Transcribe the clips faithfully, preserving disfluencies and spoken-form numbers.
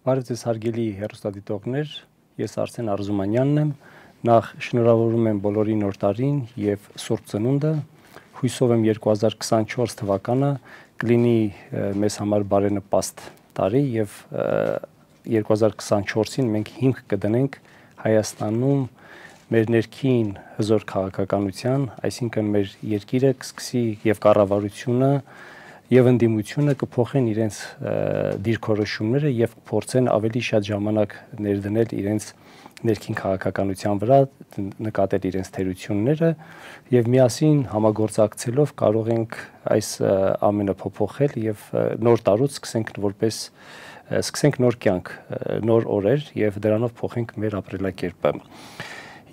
Բարև ձեզ հարգելի հեռուստադիտողներ, ես Արսեն Արզումանյանն եմ, նախ շնորհավորում եմ բոլորին նոր տարին եւ Սուրբ Ծնունդը, հույսով եմ երկու հազար քսանչորս թվականը կլինի մեզ համար բարենպաստ տարի եւ երկու հազար քսանչորսին մենք հիմք կդնենք Հայաստանում մեր ներքին հզոր քաղաքականության, այսինքն մեր երկիրը կսկսի եւ կառավարությունը եւ ընդդիմությունը կփոխեն իրենց դիրքորոշումները եւ կփորձեն ավելի շատ ժամանակ ներդնել իրենց ներքին քաղաքականության վրա, նկատել իրենց թերությունները եւ միասին համագործակցելով կարող ենք այս ամենը փոփոխել եւ նոր տարուց սկսենք որպես սկսենք նոր կյանք, նոր օրեր եւ դրանով փոխենք մեր ապրելակերպը։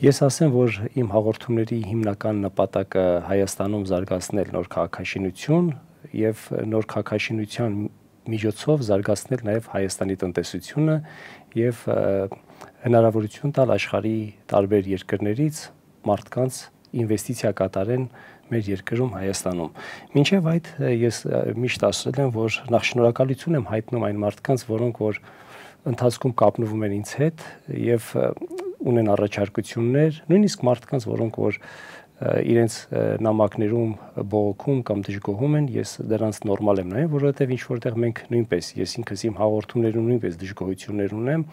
Ես ասեմ, որ իմ հաղորդումների հիմնական նպատակը Հայաստանում զարգացնել նոր քաղաքաշինություն եւ նոր քաղաքաշինության միջոցով զարգացնել նաեւ Հայաստանի տնտեսությունը եւ հնարավորություն տալ աշխարհի տարբեր երկրներից մարդկանց ինվեստիցիա կատարեն մեր երկրում Հայաստանում։ Մինչև այդ ես միշտ ասել եմ, որ նախ շնորհակալություն եմ հայտնում այն մարդկանց, որոնք որ ընթացքում կապնվում են ինձ հետ եւ ունեն առաջարկություններ, նույնիսկ մարդկանց, որոնք որ իրենց նամակներում բողոքում կամ դժգոհում են, ես դրանց նորմալ եմ նայում, որովհետև ինչ որտեղ մենք նույնպես, ես ինքս իմ հաղորդումներում նույնպես դժգոհություններ ունեմ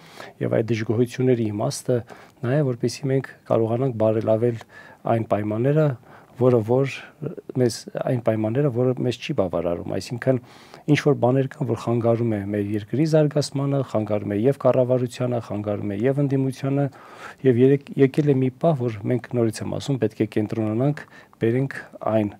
եւ այդ դժգոհությունների իմաստը նա է, որպեսզի մենք կարողանանք բարելավել այն պայմանները, որը որ մեզ այն պայմանները, որը մեզ չի բավարարում, այսինքն ինչ որ բաներ կան, որ խանգարում է մեր երկրի զարգացմանը, խանգարում է եւ կառավարությանը, խանգարում է եւ ընդդիմությանը եւ եկել է մի պահ, որ մենք նորից եմ ասում, պետք է կենտրոնանանք, բերենք այն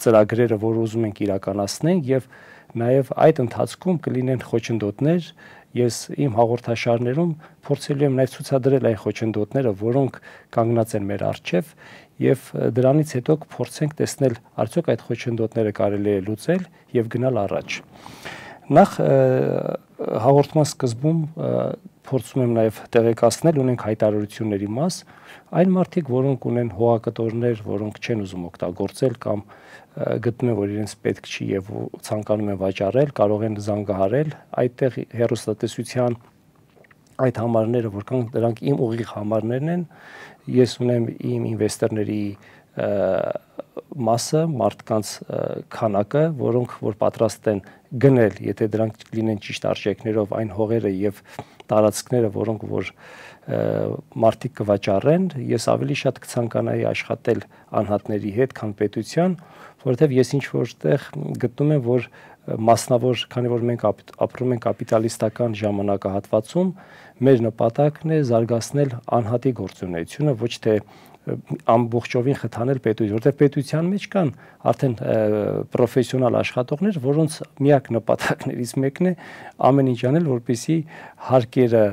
ծրագրերը, որ ուզում ենք իրականացնենք եւ նաեւ այդ ընթացքում կլինեն խոչընդոտներ։ Ես իմ հաղորդաշարներում փորձելու եմ նաեւ ցուցադրել այն խոչընդոտները, որոնք կանգնած են մեր առջև եւ դրանից հետո կփորձենք տեսնել արդյոք այդ խոչընդոտները կարելի է լուծել եւ գնալ առաջ։ Նախ հաղորդման սկզբում փորձում եմ նաեւ տեղեկացնել, ունենք հայտարարությունների մաս, այն մարդիկ, որոնք ունեն հողակտորներ, որոնք չեն ուզում օգտագործել կամ գտնում են, որ իրենց պետք չի եւ ցանկանում են վաճառել, կարող են զանգահարել այդտեղ հեռուստատեսության այդ համարները, որ կան, դրանք իմ ուղիղ համարներն են, ես ունեմ իմ ինվեստորների մասը, մարդկանց քանակը, որոնք որ պատրաստ են գնել, եթե դրանք լինեն ճիշտ արժեքներով այն հողերը եւ տարածքները, որոնք որ մարդիկ կվաճառեն, ես ավելի շատ կցանկանայի աշխատել անհատների հետ, քան պետության, որովհետեւ ես ինչ որտեղ գտնում եմ, որ մասնավոր, քանի որ մենք ապրում ենք կապիտալիստական ժամանակահատվածում, մեր նպատակն է զարգացնել անհատի գործունեությունը, ոչ թե ամբողջովին խթանել պետություն, որտեղ պետության մեջ կան արդեն պրոֆեսիոնալ աշխատողներ, որոնց միակ նպատակներից մեկն է ամեն ինչ անել, որպեսզի հարկերը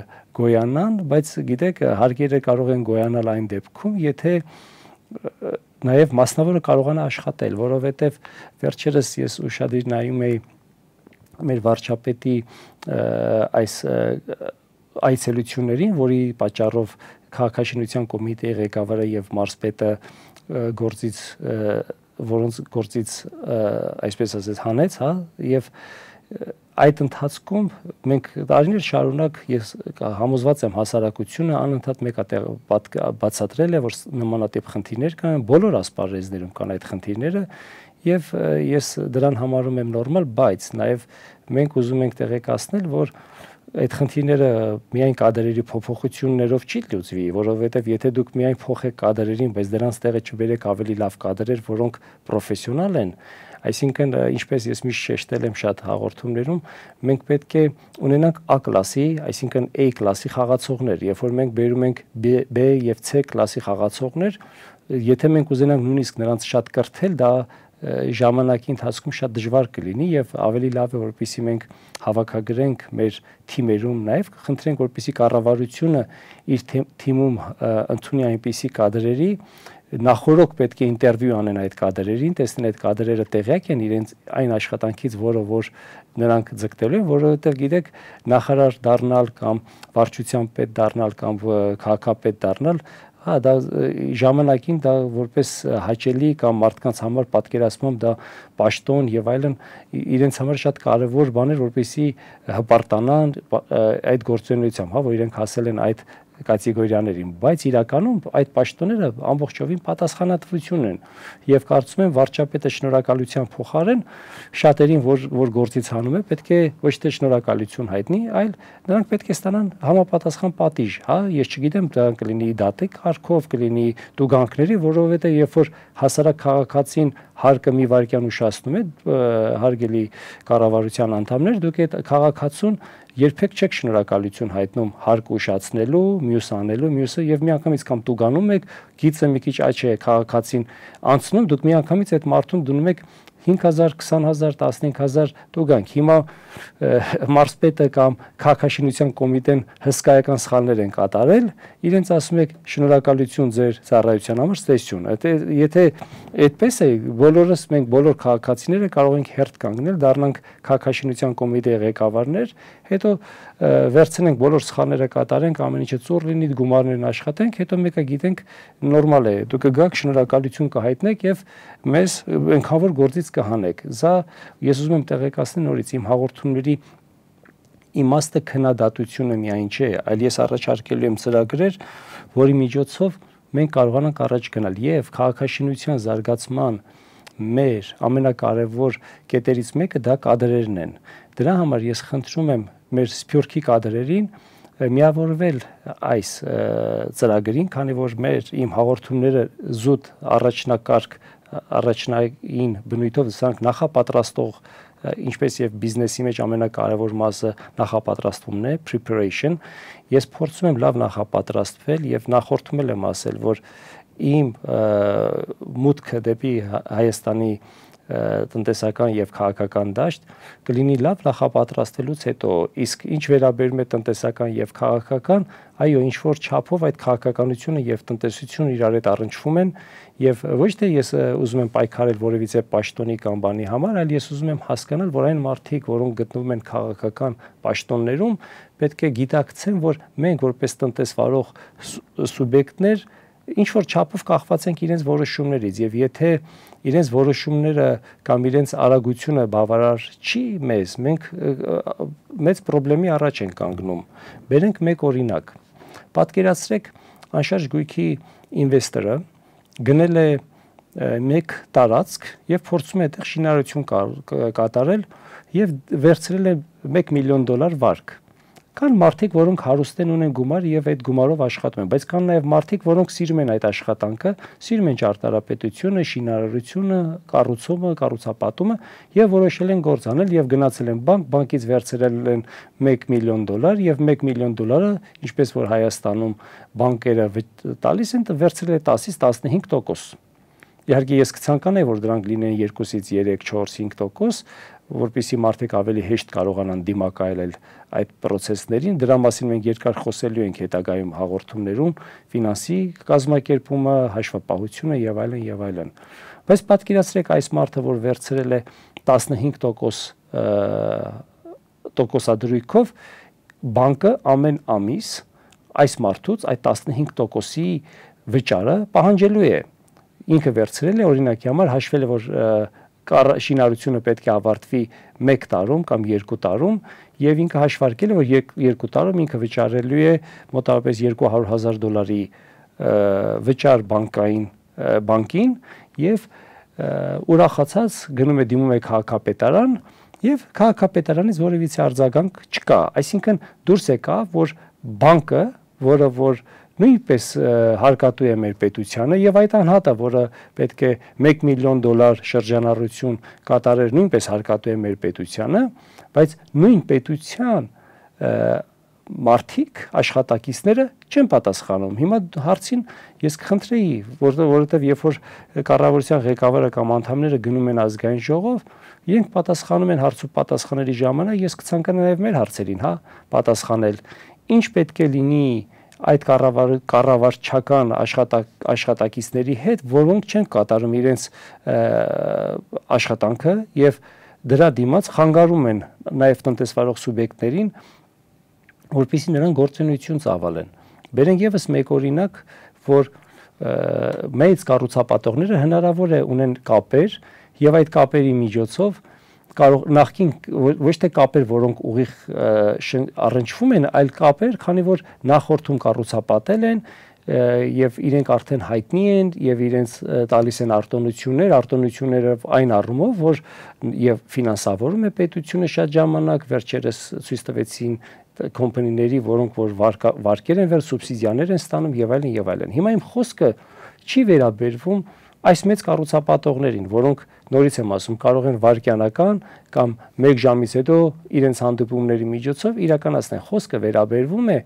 գոյանան, բայց գիտեք, հարկերը կարող են գոյանալ այն դեպքում, եթե նաև մասնավորը կարողանա աշխատել, որովհետև վերջերս ես ուշադիր նայում էի մեր վարչապետի այս այցելություններին, որի պատճառով քաղաքաշինության կոմիտեի ղեկավարը եւ մարզպետը գործից որոնց գործից այսպես ասած հանեց, հա, եւ այդ ընթացքում մենք տարիներ շարունակ ես համոզված եմ հասարակությունը անընդհատ մեկ բացատրել է, որ նմանատիպ խնդիրներ կան, բոլոր ասպարեզներում կան այդ խնդիրները եւ ես դրան համարում եմ նորմալ, բայց նաեւ մենք ուզում ենք տեղեկացնել, որ այդ խնդիրները միայն կադրերի փոփոխություններով չի լուծվի, որովհետև եթե դուք միայն փոխեք կադրերին, բայց դրանց տեղը չբերեք ավելի լավ կադրեր, որոնք պրոֆեսիոնալ են, այսինքն ինչպես ես միշտ շեշտել եմ շատ հաղորդումներում, մենք պետք է ունենանք A կլասի, այսինքն A կլասի խաղացողներ, երբ որ մենք բերում ենք B եւ C կլասի խաղացողներ, եթե մենք ուզենանք նույնիսկ նրանց շատ կրթել, դա ժամանակի ընթացքում շատ դժվար կլինի եւ ավելի լավ է որպեսզի մենք հավաքագրենք մեր թիմերում նաեւ խնդրենք որպեսզի կառավարությունը իր թիմում ընդունի այնպիսի կադրերի նախորոք պետք է ինտերվյու անեն այդ կադրերին, տեսնեն այդ կադրերը տեղյակ են իրենց այն աշխատանքից, որը որ նրանք ձգտելու են, որովհետև գիտեք, նախարար դառնալ կամ վարչության պետ դառնալ կամ քաղաքապետ դառնալ հա դա ժամանակին դա որպես հաճելի կամ մարդկանց համար պատկերացնում դա պաշտոն եւ այլն իրենց համար շատ կարեւոր բան էր, որպեսզի հպարտանան այդ գործունեությամբ, հա, որ իրենք հասել են այդ կատեգորիաներին, բայց իրականում այդ պաշտոնները ամբողջովին պատասխանատվություն են եւ կարծում եմ վարչապետը շնորհակալության փոխարեն շատերին, որ որ գործից հանում է, պետք է ոչ թե շնորհակալություն հայտնի, այլ նրանք պետք է ստանան համապատասխան պատիժ, հա, ես չգիտեմ, դա կլինի դատիկ կարգով, կլինի տուգանքների, որովհետեւ երբ որ հասարակ քաղաքացին հարկը մի վայրկյան ուշացնում է, հարգելի կառավարության անդամներ, դուք այդ քաղաքացուն երբեք չեք շնորհակալություն հայտնում հարկ ուշացնելու, մյուս անելու, մյուսը եւ միանգամից կամ տուգանում եք, գիծը մի քիչ աճ է քաղաքացին անցնում, դուք միանգամից այդ մարդուն դնում եք հինգ հազար, քսան հազար, տասնհինգ հազար տուգանք։ Հիմա մարզպետը կամ քաղաքաշինության կոմիտեն հսկայական սխալներ են կատարել, իրենց ասում եք շնորհակալություն ձեր ծառայության համար, ստեսություն։ Եթե այդպես է, բոլորս մենք բոլոր քաղաքացիները կարող ենք հերթ կանգնել, դառնանք քաղաքաշինության կոմիտեի ղեկավարներ, հետո վերցնենք բոլոր սխալները կատարենք, ամեն ինչը ծուռ լինի, գումարներն աշխատենք, հետո մեկը գիտենք նորմալ է, դուք կգաք շնորհակալություն կհայտնեք եւ մեզ այնքան որ գործից կհանեք։ Սա ես ուզում եմ տեղեկացնել նորից իմ հաղորդումների իմաստը քննադատությունը միայն չէ, այլ ես առաջարկելու եմ ծրագրեր, որի միջոցով մենք կարողանանք առաջ գնալ եւ քաղաքաշինության զարգացման մեր ամենակարևոր կետերից մեկը դա կադրերն են։ Դրա համար ես խնդրում եմ մեր սփյուռքի կադրերին միավորվել այս ծրագրին, քանի որ մեր իմ հաղորդումները զուտ առաջնակարգ առաջնային բնույթով սրանք նախապատրաստող ինչպես եւ բիզնեսի մեջ ամենակարևոր մասը նախապատրաստումն է, preparation, ես փորձում եմ լավ նախապատրաստվել եւ նախորդում եմ ասել, որ իմ մուտքը դեպի Հայաստանի տնտեսական եւ քաղաքական դաշտ կլինի լավ նախապատրաստելուց հետո, իսկ ինչ վերաբերում է տնտեսական եւ քաղաքական, այո, ինչ որ չափով այդ քաղաքականությունը եւ տնտեսությունը իրար հետ առնչվում են եւ ոչ թե ես ուզում եմ պայքարել որևիցե պաշտոնի կամ բանի համար, այլ ես ուզում եմ հասկանալ, որ այն մարդիկ, որոնք գտնվում են քաղաքական պաշտոններում, պետք է գիտակցեն, որ մենք որպես տնտեսվարող սուբյեկտներ ինչ որ չափով կախված ենք իրենց որոշումներից եւ եթե իրենց որոշումները կամ իրենց արագությունը բավարար չի մեզ, մենք մեծ խնդրի առաջ ենք կանգնում։ Բերենք մեկ օրինակ։ Պատկերացրեք, անշարժ գույքի ինվեստորը գնել է մեկ տարածք եւ փորձում է այդտեղ շինարարություն կատարել եւ վերցրել է մեկ միլիոն դոլար վարկ։ Կան մարդիկ, որոնք հարուստ են, ունեն գումար եւ այդ գումարով աշխատում են, բայց կան նաեւ մարդիկ, որոնք սիրում են այդ աշխատանքը, սիրում են ճարտարապետությունը, շինարարությունը, կառուցումը, կառուցապատումը եւ որոշել են գործ անել եւ գնացել են բանկ, բանկից վերցրել են մեկ միլիոն դոլար եւ մեկ միլիոն դոլարը, ինչպես որ Հայաստանում բանկերը տալիս են, վերցրել է տասից տասնհինգ տոկոս։ Իհարկե ես կցանկանայի, որ դրանք լինեն երկուսից երեք, չորս, հինգ տոկոս, որպեսզի մարդիկ ավելի հեշտ կարողանան դիմակայել այդ process-ներին, դրա մասին մենք երկար խոսելու ենք հետագայում հաղորդումներում, ֆինանսի կազմակերպումը, հաշվապահությունը եւ այլն եւ այլն։ Բայց պատկերացրեք այս մարդը, որ վերցրել է տասնհինգ տոկոս տոկոսադրույքով, բանկը ամեն ամիս այս մարդուց այդ տասնհինգ տոկոսի վճարը պահանջելու է։ Ինքը վերցրել է, օրինակի համար հաշվել է, որ շինարարությունը պետք է ավարտվի մեկ տարում կամ երկու տարում եւ ինքը հաշվարկել է, որ երկու տարում ինքը վճարելու է մոտավորապես երկու հարյուր հազար դոլարի վճար բանկային բանկին եւ ուրախացած գնում է դիմում է քաղաքապետարան եւ քաղաքապետարանից որևիցե արձագանք չկա, այսինքն դուրս եկավ, որ բանկը, որը որ նույնպես հարկատու է մեր պետությանը եւ այդ անհատը, որը պետք է մեկ միլիոն դոլար շրջանառություն կատարեր, նույնպես հարկատու է մեր պետությանը, բայց նույն պետության մարդիկ, աշխատակիցները չեն պատասխանում։ Հիմա հարցին ես կխնդրեի, որովհետեւ երբ որ կառավարության ղեկավարը կամ անդամները գնում են ազգային ժողով, իրենք պատասխանում են հարց ու պատասխանների ժամանակ, ես կցանկանայի նաեւ մեր հարցերին, հա, պատասխանել։ Ինչ պետք է լինի այդ կառավարչական աշխատակիցների հետ, որոնք չեն կատարում իրենց աշխատանքը եւ դրա դիմաց խանգարում են նաեւ տնտեսվարող սուբյեկտներին, որպեսզի նրանք գործունեություն ծավալեն։ Բերենք եւս մեկ օրինակ, որ մեծ կառուցապատողները հնարավոր է ունեն կապեր եւ այդ կապերի միջոցով կարող նախքին ոչ թե կապեր, որոնք ուղիղ առնչվում են, այլ կապեր, քանի որ նախորդում կառուցապատել են եւ իրենք արդեն հայտնի են եւ իրենց տալիս են արտոնություններ, արտոնությունները այն առումով, որ եւ ֆինանսավորում է պետությունը շատ ժամանակ, վերջերս ցույց տվեցին կոմպանիների, որոնք որ վարկեր են վեր, սուբսիդիաներ են ստանում եւ այլն եւ այլն։ Հիմա իմ խոսքը չի վերաբերվում այս մեծ կառուցապատողներին, որոնք նորից եմ ասում, կարող են վարկյանական կամ մեկ ժամից հետո իրենց հանդիպումների միջոցով իրականացնեն։ Խոսքը վերաբերվում է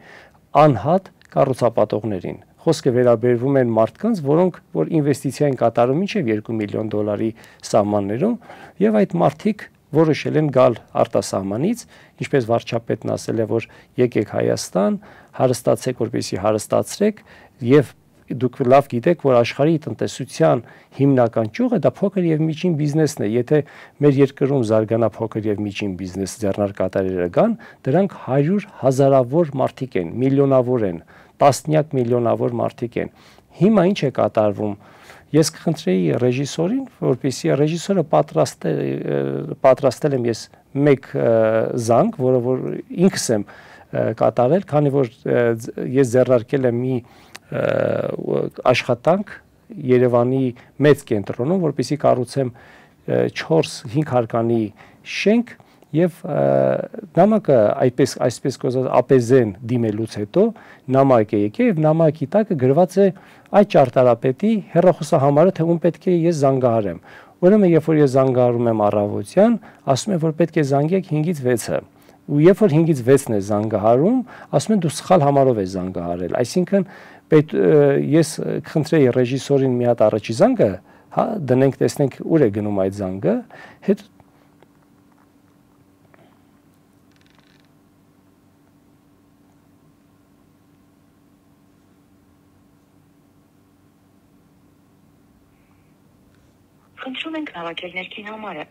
անհատ կառուցապատողներին։ Խոսքը վերաբերվում են մարդկանց, որոնք որ ինվեստիցիա են կատարում մինչև երկու միլիոն դոլարի սահմաններում եւ այդ մարդիկ որոշել են գալ արտասահմանից, ինչպես վարչապետն ասել է, որ եկեք Հայաստան, հարստացեք, որպեսզի հարստացրեք եւ դուք լավ գիտեք, որ աշխարհի տնտեսության հիմնական ճյուղը դա փոքր եւ միջին բիզնեսն է։ Եթե մեր երկրում զարգանա փոքր եւ միջին բիզնես ձեռնարկատերերը գան, դրանք հարյուր հազարավոր մարդիկ են, միլիոնավոր են, տասնյակ միլիոնավոր մարդիկ են։ Հիմա ինչ է կատարվում։ Ես կխնդրեի ռեժիսորին, որպեսզի ռեժիսորը պատրաստել պատրաստել եմ ես մեկ զանգ, որը որ ինքս եմ կատարել, քանի որ ես ձեռնարկել եմ մի աշխատանք Երևանի մեծ կենտրոնում, որպեսզի կառուցեմ չորս-հինգ հարկանի շենք եւ նամակը այդպես այսպես կոչված ապեզեն դիմելուց հետո նամակ է եկել եւ նամակի տակը գրված է այդ ճարտարապետի հեռախոսահամարը, թե ում պետք է ես զանգահարեմ։ Ուրեմն երբ որ ես զանգահարում եմ առավոտյան, ասում են որ պետք է զանգեք հինգից վեցը։ Ու երբ որ հինգից վեցն է զանգահարում, ասում են դու սխալ համարով ես զանգահարել։ Այսինքն պետք ես խնդրեի ռեժիսորին մի հատ առաջի զանգը, հա, դնենք, տեսնենք ուր է գնում այդ զանգը, հետ Խնդրում ենք հավաքել ներքին համարը։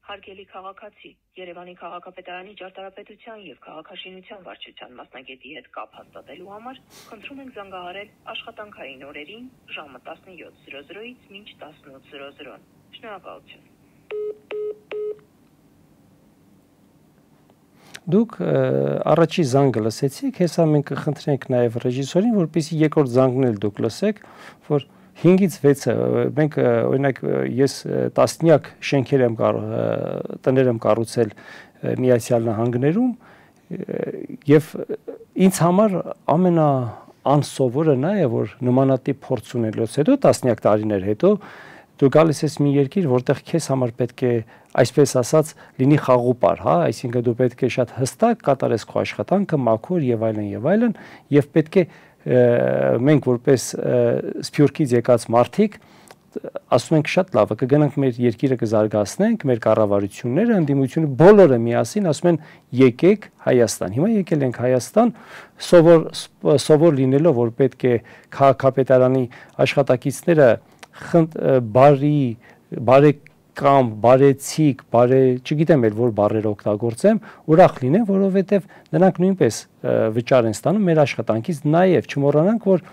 Հարգելի քաղաքացի, Երևանի քաղաքապետարանի ճարտարապետության եւ քաղաքաշինության վարչության մասնագետի հետ կապ հաստատելու համար խնդրում ենք զանգահարել աշխատանքային օրերին ժամը տասնյոթ զրո զրոից մինչ տասնութ զրո զրո։ Շնորհակալություն։ Դուք առաջի զանգը լսեցիք, հեսա մենք կխնդրենք նաև ռեժիսորին, որպեսզի երկրորդ զանգն էլ դուք լսեք, որ հինգից վեցը մենք օրինակ ես տասնյակ շենքեր եմ տներ եմ կառուցել Միացյալ Նահանգներում եւ ինձ համար ամենաանսովորը նա է, որ նմանատիպ փորձ ունելուց հետո տասնյակ տարիներ հետո դու գալիս ես մի երկիր, որտեղ քեզ համար պետք է, այսպես ասած, լինի խաղուպար, հա, այսինքն դու պետք է շատ հստակ կատարես քո աշխատանքը, մաքուր եւ այլն եւ այլն, եւ պետք է մենք որպես Սփյուռքից եկած մարդիկ ասում ենք շատ լավ, կգնանք մեր երկիրը կզարգացնենք, մեր կառավարությունները, ընդդիմությունը բոլորը միասին ասում են եկեք Հայաստան։ Հիմա եկել ենք Հայաստան, սովոր սովոր լինելով, որ պետք է քաղաքապետարանի աշխատակիցները բարի, բարեկամ, բարեցիկ, բարե, չգիտեմ էլ որ բառեր օգտագործեմ, ուրախ լինեն, որովհետև նրանք նույնպես վճար են ստանում մեր աշխատանքից, նաև չմոռանանք, որ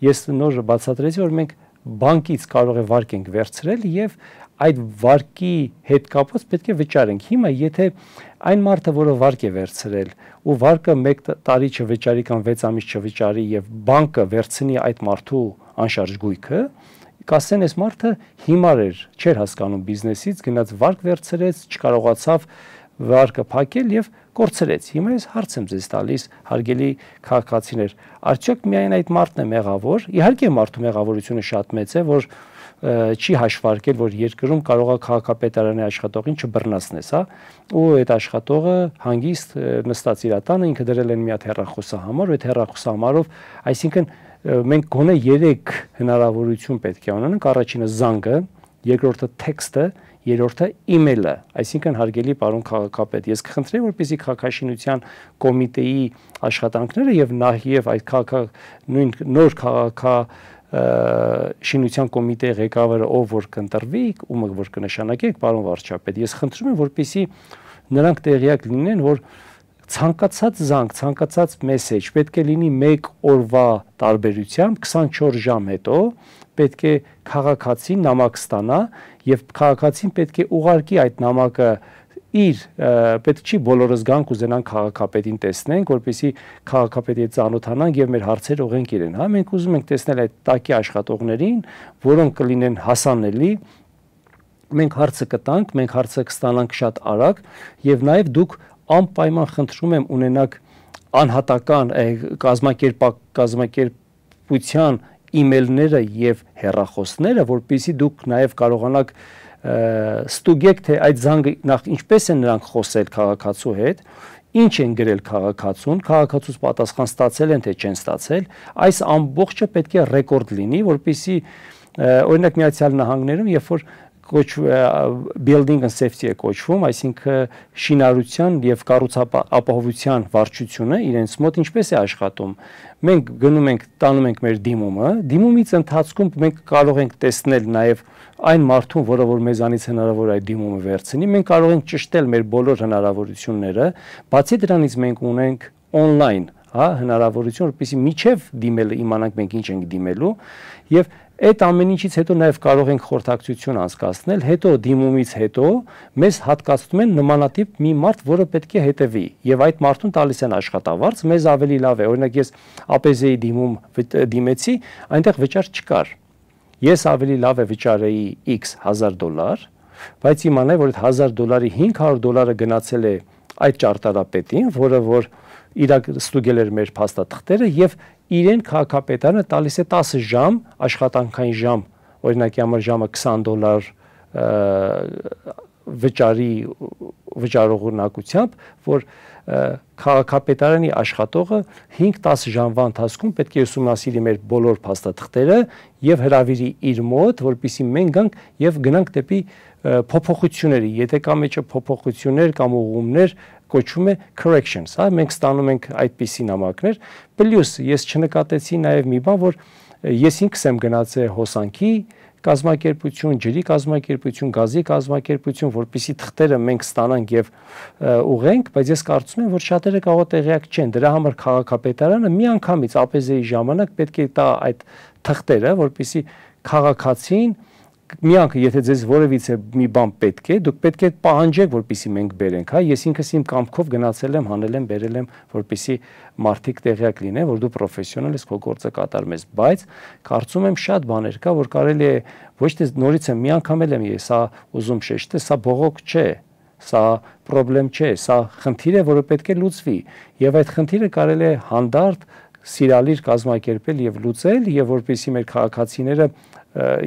ես նոր բացատրեցի, որ մենք բանկից կարող է վարկ ենք վերցրել եւ այդ վարկի հետ կապված պետք է վճարենք։ Հիմա եթե այն մարդը, որը վարկ է վերցրել ու վարկը մեկ տարի չվճարի կամ վեց ամիս չվճարի եւ բանկը վերցնի այդ մարդու անշարժ գույքը, կասեն այս մարդը հիմար էր, չէր հասկանում բիզնեսից, գնաց վարկ վերցրեց, չկարողացավ վարկը փակել եւ կորցրեց։ Հիմա ես հարց եմ ձեզ տալիս, հարգելի քաղաքացիներ, արդյոք միայն այդ մարդն է մեղավոր։ Իհարկե մարդու մեղավորությունը շատ մեծ է, որ չի հաշվարկել, որ երկրում կարող է քաղաքապետարանի աշխատողին չբռնացնես, հա, ու այդ աշխատողը հանգիստ նստած իր տանը, ինքը դրել են մի հատ հեռախոսահամար, ու այդ հեռախոսահամարով, այսինքն մենք գոնե երեք հնարավորություն պետք է ունենանք, առաջինը զանգը, երկրորդը տեքստը, երրորդը email-ը, այսինքն հարգելի պարոն քաղաքապետ, ես կխնդրեի, որպեսզի քաղաքաշինության կոմիտեի աշխատանքները եւ նաեւ այդ քաղաք նույն նոր քաղաք շինության կոմիտեի ղեկավարը ով որ կընտրվի, ումը որ կնշանակեք, պարոն վարչապետ, ես խնդրում եմ, որպեսզի նրանք տեղյակ լինեն, որ ցանկացած զանգ, ցանկացած մեսեջ պետք է լինի մեկ օրվա տարբերությամբ քսանչորս ժամ հետո պետք է քաղաքացին նամակ ստանա եւ քաղաքացին պետք է ուղարկի այդ նամակը իր պետք չի բոլորս գանք ուզենան քաղաքապետին տեսնենք, որպեսզի քաղաքապետի հետ ծանոթանանք եւ մեր հարցերը ուղենք իրեն, հա, մենք ուզում ենք տեսնել այդ տակի աշխատողներին, որոնք կլինեն հասանելի, մենք հարցը կտանք, մենք հարցը կստանանք շատ արագ եւ նաեւ դուք անպայման խնդրում եմ ունենաք անհատական կազմակերպ կազմակերպության email-ները եւ հեռախոսները, որպեսզի դուք նաեւ կարողանաք ստուգեք թե այդ զանգը նախ ինչպես են նրանք խոսել քաղաքացու հետ, ինչ են գրել քաղաքացուն, քաղաքացուց պատասխան ստացել են թե չեն ստացել, այս ամբողջը պետք է ռեկորդ լինի, որպեսզի օրինակ Միացյալ Նահանգներում, երբ որ building and safety է կոչվում, այսինքն շինարարության եւ կառուցապահովության վարչությունը իրենց մոտ ինչպես է աշխատում։ Մենք գնում ենք, տանում ենք մեր դիմումը, դիմումից ընթացքում մենք կարող ենք տեսնել նաեւ այն մարդուն, որը որ մեզանից հնարավոր այդ դիմումը վերցնի, մենք կարող ենք ճշտել մեր բոլոր հնարավորությունները, բացի դրանից մենք ունենք on-line, հա, հնարավորություն, որպեսզի միջև դիմելը իմանանք մենք ինչ ենք դիմելու եւ այդ ամեն ինչից հետո նաև կարող ենք խորհրդակցություն անցկացնել, հետո դիմումից հետո մեզ հատկացնում են նմանատիպ մի մարդ, որը պետք է հետևի, եւ այդ մարդուն տալիս են աշխատավարձ, մեզ ավելի լավ է, օրինակ ես ԱՊԶ-ի դիմում դիմեցի, այնտեղ վճար չկար։ Ես ավելի լավ է վճարեի X հազար դոլար, բայց իմանայի, որ այդ հազար դոլարի հինգ հարյուր դոլարը գնացել է այդ ճարտարապետին, որը որ իրակ ստուգել էր մեր փաստաթղթերը եւ իրեն քաղաքապետարանը տալիս է տասը ժամ աշխատանքային ժամ, օրինակի համար ժամը քսան դոլար վճարի վճարողունակությամբ, որ քաղաքապետարանի աշխատողը հինգ-տասը ժամվա ընթացքում պետք է ուսումնասիրի մեր բոլոր փաստաթղթերը եւ հրավիրի իր մոտ, որպեսզի մենք գանք եւ գնանք դեպի փոփոխությունների, եթե կա մեջը փոփոխություններ կամ ուղղումներ, կոչվում է corrections, հա, մենք ստանում ենք այդպիսի նամակներ, պլյուս ես չնկատեցի նաև մի բան, որ ես ինքս եմ գնացել հոսանքի կազմակերպություն, ջրի կազմակերպություն, գազի կազմակերպություն, որպեսզի թղթերը մենք ստանանք եւ ուղենք, բայց ես կարծում եմ, որ շատերը կարող է տեղյակ չեն, դրա համար քաղաքապետարանը միանգամից ԱՊԶ-ի ժամանակ պետք է տա այդ թղթերը, որպեսզի քաղաքացին միանք, եթե ձեզ որևիցե մի բան պետք է, դուք պետք է պահանջեք, որպեսզի մենք բերենք, հա, ես ինքս իմ կամքով գնացել եմ, հանել եմ, բերել եմ, որպեսզի մարդիկ տեղյակ լինեն, որ դու պրոֆեսիոնալ ես, քո գործը կատարում ես, բայց կարծում եմ շատ բաներ կա, որ կարելի է ոչ թե նորից եմ մի անգամ եմ ես սա ուզում շեշտել, սա բողոք չէ, սա խնդրեմ չէ, սա խնդիր է, որը պետք է լուծվի, եւ այդ խնդիրը կարելի է հանդարտ սիրալիր կազմակերպել եւ լուծել, եւ որպեսզի մեր քաղաքացիները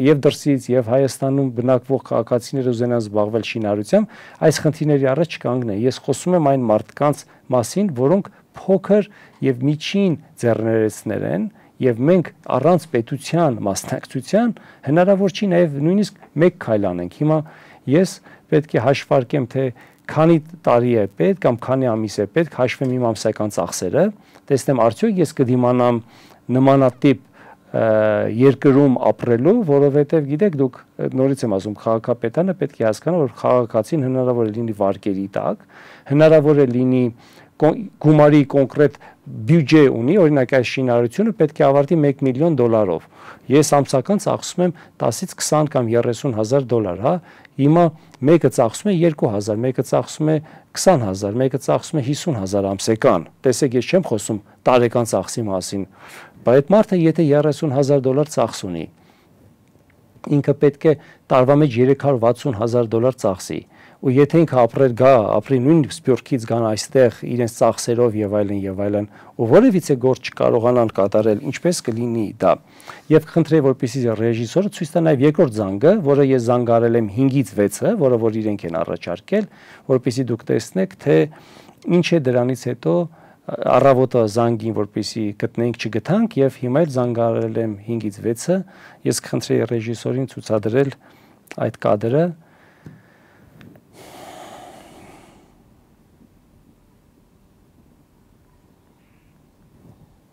եւ դրսից եւ Հայաստանում բնակվող քաղաքացիները ուզենան զբաղվել շինարարությամբ, այս խնդիրների առաջ չկանգնեն։ Ես խոսում եմ այն մարդկանց մասին, որոնք փոքր եւ միջին ձեռներեցներ են, եւ մենք առանց պետության մասնակցության հնարավոր չի նաեւ նույնիսկ մեկ քայլ անենք։ Հիմա ես պետք է հաշվարկեմ, թե քանի տարի է պետք կամ քանի ամիս է պետք, հաշվեմ իմ ամսական ծախսերը, տեսնեմ արդյոք ես կդիմանամ նմանատիպ երկրում ապրելու, որովհետև գիտեք դուք նորից եմ ասում, քաղաքապետարանը պետք է հասկանա, որ քաղաքացին հնարավոր է լինի վարկերի տակ, հնարավոր է լինի գումարի կոնկրետ բյուջե ունի, օրինակ այս շինարարությունը պետք է ավարտի մեկ միլիոն դոլարով։ Ես ամսական ծախսում եմ տասից քսան կամ երեսուն հազար դոլար, հա։ Հիմա մեկը ծախսում է երկու հազար, մեկը ծախսում է քսան հազար, մեկը ծախսում է հիսուն հազար ամսական։ Տեսեք, ես չեմ խոսում տարեկան ծախսի մասին, բայց այդ մարդը եթե երեսուն հազար դոլար ծախս ունի, ինքը պետք է տարվա մեջ երեք հարյուր վաթսուն հազար դոլար ծախսի, ու եթե ինքը ապրել գա, ապրի նույն Սփյուռքից գան այստեղ իրենց ծախսերով եւ այլն եւ այլն, ու որևիցե գործ չկարողանան կատարել, ինչպես կլինի դա։ Եվ խնդրեի, որպեսզի ռեժիսորը ցույց տա նաեւ երկրորդ զանգը, որը ես զանգարել եմ հինգից վեցը, որը որ իրենք են առաջարկել, որպեսզի դուք տեսնեք, թե ինչ է դրանից հետո առավոտը զանգին, որպեսզի գտնենք, չգտանք, եւ հիմա էլ զանգարել եմ հինգից վեցը, ես կխնդրեի ռեժիսորին ցուցադրել այդ կադրը։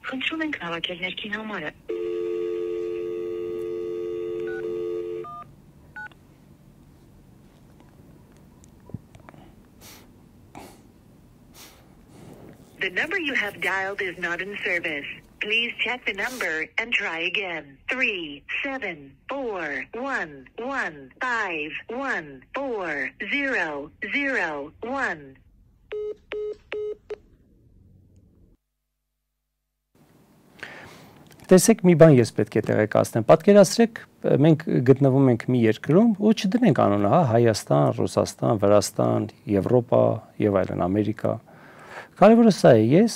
Խնդրում ենք հավաքել ներքին համարը։ The number you have dialed is not in service. Please check the number and try again. Three seven four one one five one four zero zero one. Տեսեք մի բան ես պետք է տեղեկացնեմ։ Պատկերացրեք, մենք գտնվում ենք մի երկրում, ու չդնենք անունը, հա, Հայաստան, Ռուսաստան, Վրաստան, Եվրոպա եւ այլն, Ամերիկա։ Կարևորը սա է, ես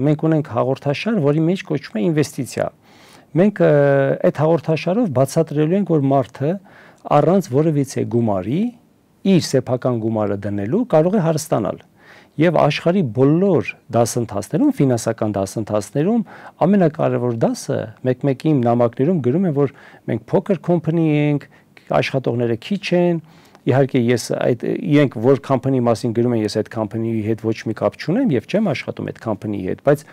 մենք ունենք հաղորդաշար, որի մեջ կոչվում է ինվեստիցիա։ Մենք այդ հաղորդաշարով բացատրելու ենք, որ մարդը առանց որևիցե գումարի իր սեփական գումարը դնելու կարող է հարստանալ։ Եվ աշխարհի բոլոր դասընթացներում, ֆինանսական դասընթացներում ամենակարևոր դասը մեկ-մեկի նամակներում գրում են, որ մենք փոքր կոմպանի ենք, աշխատողները քիչ են, իհարկե ես այդ իրենք որ կոմպանիի մասին գրում են, ես այդ կոմպանիի հետ ոչ մի կապ չունեմ եւ չեմ աշխատում այդ կոմպանիի հետ, բայց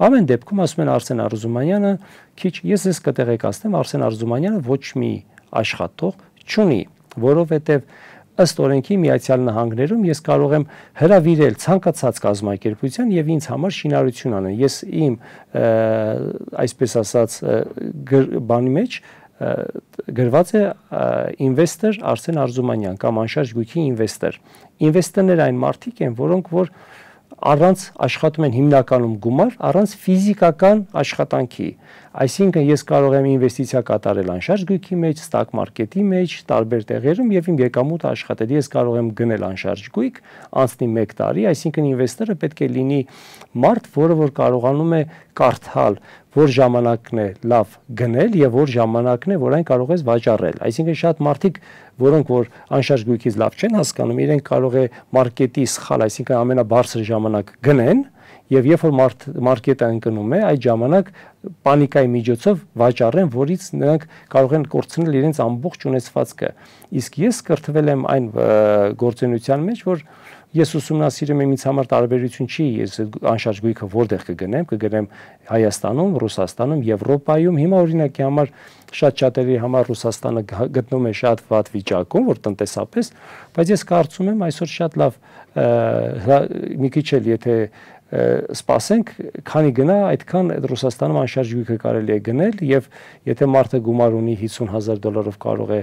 ամեն դեպքում ասում են Արսեն Արզումանյանը քիչ, ես ես կտեղեկացնեմ, Արսեն Արզումանյանը ոչ մի աշխատող չունի, որովհետեւ ըստ օրենքի Միացյալ Նահանգներում ես կարող եմ հրավիրել ցանկացած կազմակերպության եւ ինձ համար շինարարություն անել։ Ես իմ այսպես ասած բանի մեջ գրված է ինվեստոր Արսեն Արզումանյան կամ անշարժ գույքի ինվեստոր։ Ինվեստորները այն մարդիկ են, որոնք որ առանց աշխատում են հիմնականում գումար, առանց ֆիզիկական աշխատանքի։ Այսինքն ես կարող եմ ինվեստիցիա կատարել անշարժ գույքի մեջ, ստակ մարքեթի մեջ, տարբեր տեղերում եւ իմ եկամուտը աշխատել։ Ես կարող եմ գնել անշարժ գույք, անցնի մեկ տարի, այսինքն ինվեստորը պետք է լինի մարդ, որը որ կարողանում է կարդալ, որ ժամանակն է լավ գնել եւ որ ժամանակն է, որ այն կարող ես վաճառել։ Այսինքն շատ մարդիկ, որոնք որ անշարժ գույքից լավ չեն հասկանում, իրենք կարող է մարքեթի սխալ, այսինքն ամենաբարձր ժամանակ գնեն եւ երբ որ մարդ մարքեթը ընկնում է, այդ ժամանակ պանիկայի միջոցով վաճառեն, որից նրանք կարող են կորցնել իրենց ամբողջ ունեցվածքը։ Իսկ ես կրթվել եմ այն գործունեության մեջ, որ ես ուսումնասիրում եմ ինձ համար տարբերություն չի, ես անշարժ գույքը որտեղ կգնեմ, կգնեմ Հայաստանում, Ռուսաստանում, Եվրոպայում։ Հիմա օրինակի համար շատ շատերի համար Ռուսաստանը գտնում է շատ վատ վիճակում, որ տնտեսապես, բայց ես կարծում եմ այսօր շատ լավ մի քիչ էլ եթե սպասենք, քանի գնա, այդքան Ռուսաստանում անշարժ գույքը կարելի է գնել եւ եթե մարդը գումար ունի հիսուն հազար դոլարով կարող է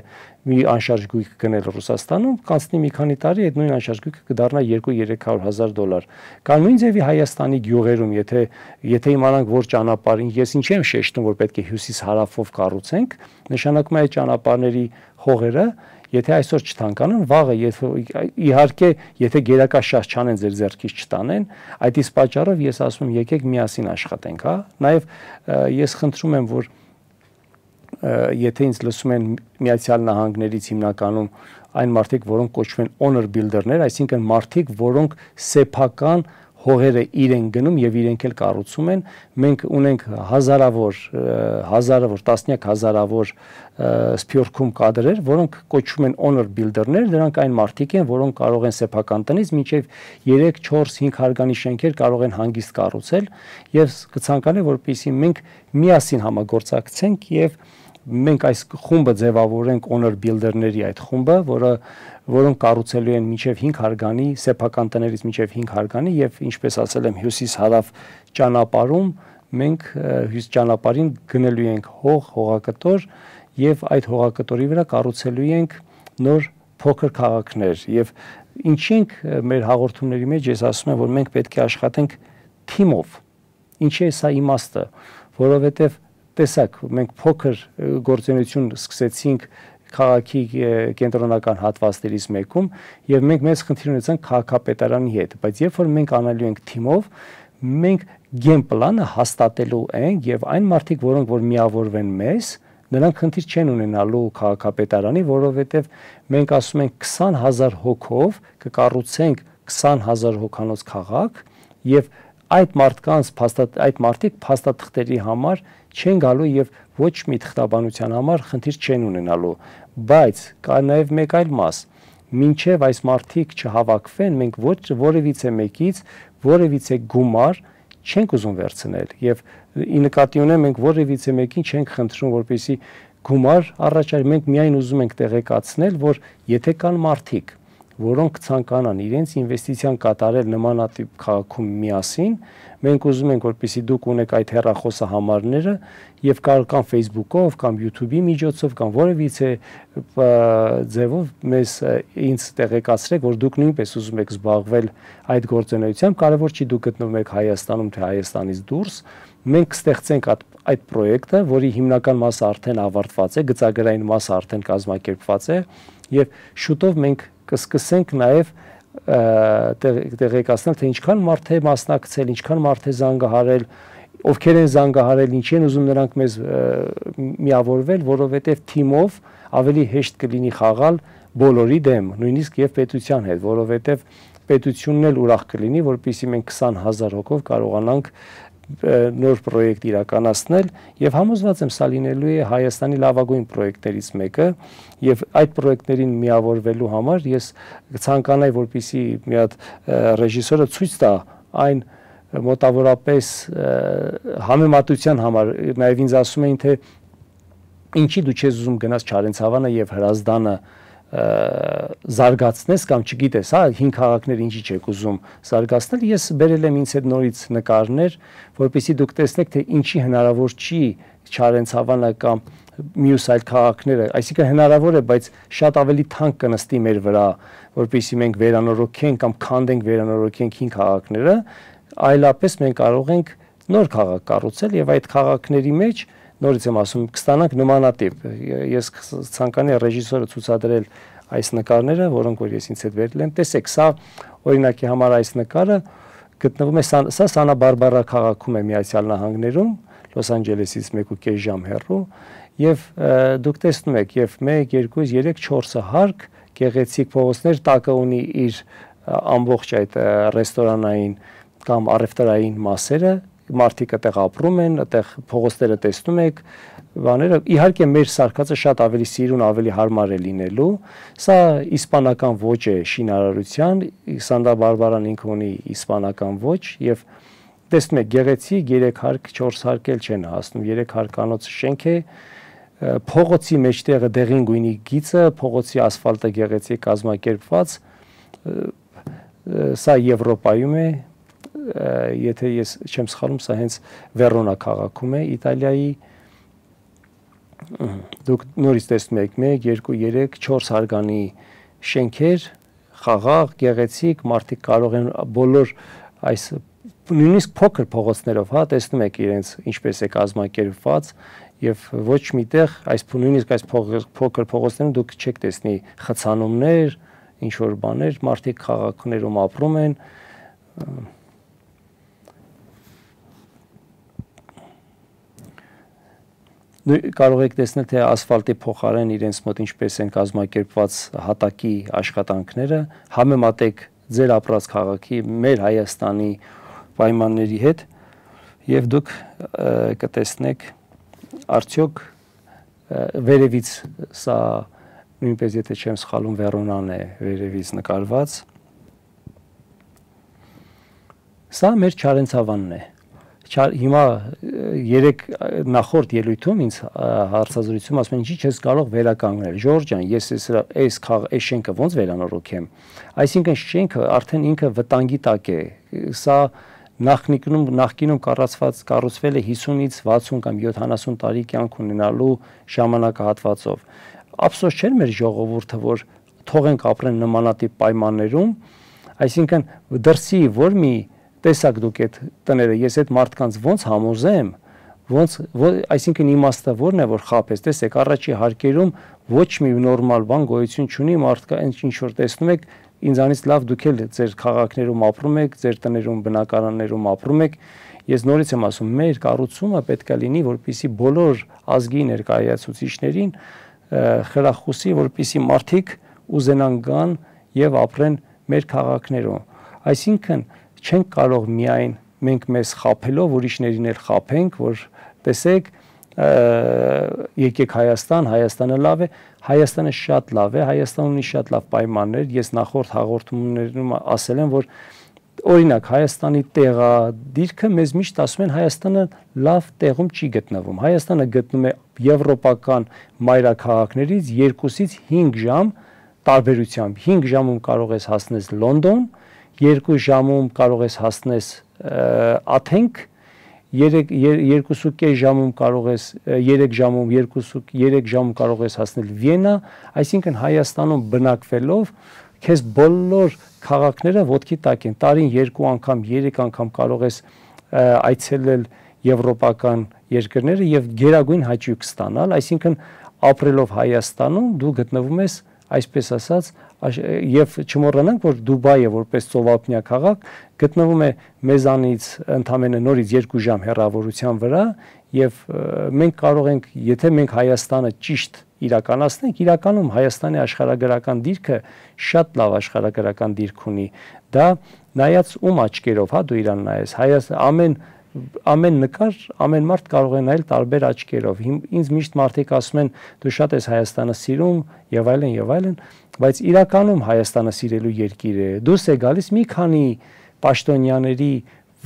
մի անշարժ գույք գնել Ռուսաստանում, կանցնի մի քանի տարի այդ նույն անշարժ գույքը կդառնա երկու-երեք հարյուր հազար դոլար։ Կամ նույն ձևի Հայաստանի գյուղերում, եթե եթե իմանանք որ ճանապարհին, ես ինչ եմ շեշտում, որ պետք է հյուսիս-հարավով կառուցենք, նշանակում է այդ ճանապարհների հողերը Եթե այսօր չթանկանան, վաղը իհարկե եթե գերակա շահ չանեն ձեր ձեռքից չտանեն, այդ իսկ պատճառով ես ասում եմ եկեք միասին աշխատենք, հա։ Նաև ես խնդրում եմ, որ եթե ինձ լսում են Միացյալ Նահանգներից հիմնականում այն մարդիկ, որոնք կոչվում են owner builder-ներ, այսինքն մարդիկ, որոնք սեփական հողերը իրեն գնում եւ իրենք էլ կառուցում են, մենք ունենք հազարավոր հազարավոր տասնյակ հազարավոր սփյուռքում կադրեր, որոնք կոչվում են owner builder-ներ, դրանք այն մարդիկ են, որոնք կարող են սեփական տնից մինչեւ երեք, չորս, հինգ հարգանի շենքեր կարող են հանգիստ կառուցել եւ կցանկանա, որպեսզի մենք միասին համագործակցենք եւ մենք այս խումբը ձևավորենք owner builder-ների այդ խումբը, որը որոնք կառուցելու են մինչև հինգ հարգանի, սեփական տներից մինչև հինգ հարգանի եւ ինչպես ասել եմ հյուսիս-հարավ ճանապարհում մենք հյուս ճանապարհին գնելու ենք հող, հողակտոր եւ այդ հողակտորի վրա կառուցելու ենք նոր փոքր քաղաքներ եւ ինչի ենք մեր հաղորդումների մեջ ես ասում եմ որ մենք պետք է աշխատենք թիմով։ Ինչի է սա իմաստը, որովհետեւ տեսակ մենք փոքր գործունեություն սկսեցինք քաղաքի կենտրոնական հատվածներից մեկում եւ մենք մեծ խնդիր ունեցանք քաղաքապետարանի հետ, բայց երբ որ մենք անալու ենք թիմով, մենք գեմ պլանը հաստատելու ենք եւ այն մարդիկ, որոնք որ միավորվեն մեզ, նրանք խնդիր չեն ունենալու քաղաքապետարանի, որովհետեւ մենք ասում ենք քսան հազար հոգով կկառուցենք քսան հազար հոգանոց քաղաք եւ այդ մարդկանց փաստաթ այդ մարդիկ փաստաթղթերի համար չեն գալու եւ ոչ մի թղթաբանության համար խնդիր չեն ունենալու, բայց կա նաեւ մեկ այլ մաս, մինչեւ այս մարդիկ չհավաքվեն, մենք ոչ որևիցե մեկից որևիցե գումար չենք ուզում վերցնել եւ ի նկատի ունեմ մենք որևիցե մեկին չենք խնդրում, որպեսզի գումար առաջարի, մենք միայն ուզում ենք տեղեկացնել, որ եթե կան մարդիկ, որոնք ցանկանան իրենց ինվեստիցիան կատարել նմանատիպ քաղաքում միասին, մենք ուզում ենք, որպեսզի դուք ունեք այդ հեռախոսը համարները եւ կարող կամ Facebook-ով կամ YouTube-ի միջոցով կամ որևիցե ձևով մեզ ինձ տեղեկացրեք, որ դուք նույնպես ուզում եք զբաղվել այդ գործունեությամբ, կարևոր չի դուք գտնվում եք Հայաստանում թե Հայաստանից դուրս, մենք կստեղծենք այդ այդ պրոյեկտը, որի հիմնական մասը արդեն ավարտված է, գծագրային մասը արդեն կազմակերպված է եւ շուտով մենք կսկսենք նաեւ տեղեկացնել, թե ինչքան մարդ է մասնակցել, ինչքան մարդ է զանգահարել, ովքեր են զանգահարել, ինչի են ուզում նրանք մեզ միավորվել, որովհետեւ թիմով ավելի հեշտ կլինի խաղալ բոլորի դեմ, նույնիսկ եւ պետության հետ, որովհետեւ պետությունն էլ ուրախ կլինի, որպեսզի մենք քսան հազար հոգով կարողանանք նոր պրոյեկտ իրականացնել եւ համոզված եմ սա լինելու է Հայաստանի լավագույն պրոյեկտներից մեկը եւ այդ պրոյեկտներին միավորվելու համար ես ցանկանայի որպեսի մի հատ ռեժիսորը ցույց տա այն մոտավորապես համեմատության համար նաեւ ինձ ասում էին թե ինչի դու չես ուզում գնաս Չարենցավանը եւ Հրազդանը զարգացնես կամ չգիտես, հա, հին քաղաքներ ինչի չեք ուզում զարգացնել, ես բերել եմ ինձ հետ նորից նկարներ, որպեսզի դուք տեսնեք, թե ինչի հնարավոր չի Չարենցավանը կամ մյուս այլ քաղաքները, այսինքն հնարավոր է, բայց շատ ավելի թանկ կնստի մեր վրա, որպեսզի մենք վերանորոգենք կամ քանդենք վերանորոգենք հին քաղաքները, այլապես մենք կարող ենք նոր քաղաք կառուցել եւ այդ քաղաքների մեջ նորից եմ ասում, կստանանք նմանատիպ։ Ես ցանկանայի ռեժիսորը ցուցադրել այս նկարները, որոնք որ ես ինձ հետ վերել եմ։ Տեսեք, սա օրինակի համար այս նկարը գտնվում է սա Սանտա Բարբարա քաղաքում է Միացյալ Նահանգներում, Լոս Անջելեսից մեկ ու կես ժամ հեռու, եւ դուք տեսնում եք, եւ մեկ, երկու, երեք, չորսը հարկ, գեղեցիկ փողոցներ, տակը ունի իր ամբողջ այդ ռեստորանային կամ առևտրային մասերը, մարդիկ այդտեղ ապրում են, այդտեղ փողոցները տեսնում եք, բաները իհարկե մեր սարքածը շատ ավելի սիրուն, ավելի հարմար է լինելու, սա իսպանական ոճ է շինարարության, Սանտա Բարբարան ինքը ունի իսպանական ոճ եւ տեսնում եք գեղեցիկ երեք հարկ, չորս հարկ էլ չեն հասնում, երեք հարկանոց շենք է, փողոցի մեջտեղը դեղին գույնի գիծը, փողոցի ասֆալտը գեղեցիկ կազմակերպված, սա Եվրոպայում է, եթե ես չեմ սխալվում, սա հենց Վերոնա քաղաքում է Իտալիայի, դուք նորից տեսնում եք մեկ, երկու, երեք, չորս հարգանի շենքեր, խաղաղ, գեղեցիկ, մարդիկ կարող են բոլոր այս նույնիսկ փոքր փողոցներով, հա, տեսնում եք իրենց ինչպես է կազմակերպված եւ ոչ միտեղ այս նույնիսկ այս փոքր փողոցներում դուք չեք տեսնի խցանումներ, ինչ որ բաներ, մարդիկ քաղաքներում ապրում են, կարող եք տեսնել, թե ասֆալտի փոխարեն իրենց մոտ ինչպես են կազմակերպված հատակի աշխատանքները, համեմատեք ձեր ապրած քաղաքի, մեր Հայաստանի պայմանների հետ եւ դուք կտեսնեք արդյոք վերևից սա նույնպես եթե չեմ սխալվում Վերոնան է վերևից նկարված, սա մեր Չարենցավանն է։ Հիմա երեք նախորդ ելույթում ինձ հարցազրույցում ասում են ինչի չես կարող վերականգնել Ժորժ ջան, ես այս այս այս շենքը ոնց վերանորոգեմ, այսինքն շենքը արդեն ինքը վտանգի տակ է, սա նախնիկնում նախկինում կառուցված կառուցվել է հիսունից վաթսուն կամ յոթանասուն տարի կյանք ունենալու ժամանակահատվածով, ափսոս չէ մեր ժողովուրդը որ թողենք ապրեն նմանատիպ պայմաններում, այսինքն դրսի որ մի տեսակ դուք այդ տները, ես այդ մարդկանց ոնց համոզեմ, ոնց, այսինքն իմաստը որն է, որ խապես, տեսեք, առաջի հարկերում ոչ մի նորմալ բան գոյություն չունի, մարդկա ինչ որ տեսնում եք, ինձանից լավ դուք էլ ձեր քաղաքներում ապրում եք, ձեր տներում, բնակարաններում ապրում եք, ես նորից եմ ասում, մեր կառուցումը պետք է լինի, որպեսզի բոլոր ազգի ներկայացուցիչներին խրախուսի, որպեսզի մարդիկ ուզենան գան եւ ապրեն մեր քաղաքներում, այսինքն չենք կարող միայն մենք մեզ խափելով ուրիշներին էլ խափենք, որ տեսեք, եկեք Հայաստան, Հայաստանը լավ է, Հայաստանը շատ լավ է, Հայաստանը ունի շատ լավ պայմաններ, ես նախորդ հաղորդումներում ասել եմ, որ օրինակ Հայաստանի տեղադիրքը մեզ միշտ ասում են Հայաստանը լավ տեղում չի գտնվում, Հայաստանը գտնում է եվրոպական մայրաքաղաքներից երկուսից հինգ ժամ տարբերությամբ հինգ ժամում կարող ես հասնես Լոնդոն, երկու ժամում կարող ես հասնես Աթենք, երկու ժամում կարող ես երեք ժամում երեք ժամում կարող ես հասնել Վիեննա, այսինքն Հայաստանում բնակվելով քեզ բոլոր քաղաքները ոտքի տակ են, տարին երկու անգամ, երեք անգամ կարող ես այցելել եվրոպական երկրները եւ գերագույն հաճույք ստանալ, այսինքն ապրելով Հայաստանում դու գտնվում ես, այսպես ասած, եւ չմոռանանք, որ Դուբայը որպես ծովափնյա քաղաք գտնվում է մեզանից ընդամենը նորից երկու ժամ հեռավորության վրա եւ մենք կարող ենք, եթե մենք Հայաստանը ճիշտ իրականացնենք, իրականում Հայաստանի աշխարհագրական դիրքը շատ լավ աշխարհագրական դիրք ունի, դա նայած ում աչքերով, հա դու իրան նայես, Հայաստան ամեն ամեն նկար, ամեն մարդ կարող է նայել տարբեր աչքերով։ Ինձ միշտ մարդիկ ասում են, դու շատ ես Հայաստանը սիրում եւ այլն եւ այլն, բայց իրականում Հայաստանը սիրելու երկիր է։ Դուրս է գալիս մի քանի պաշտոնյաների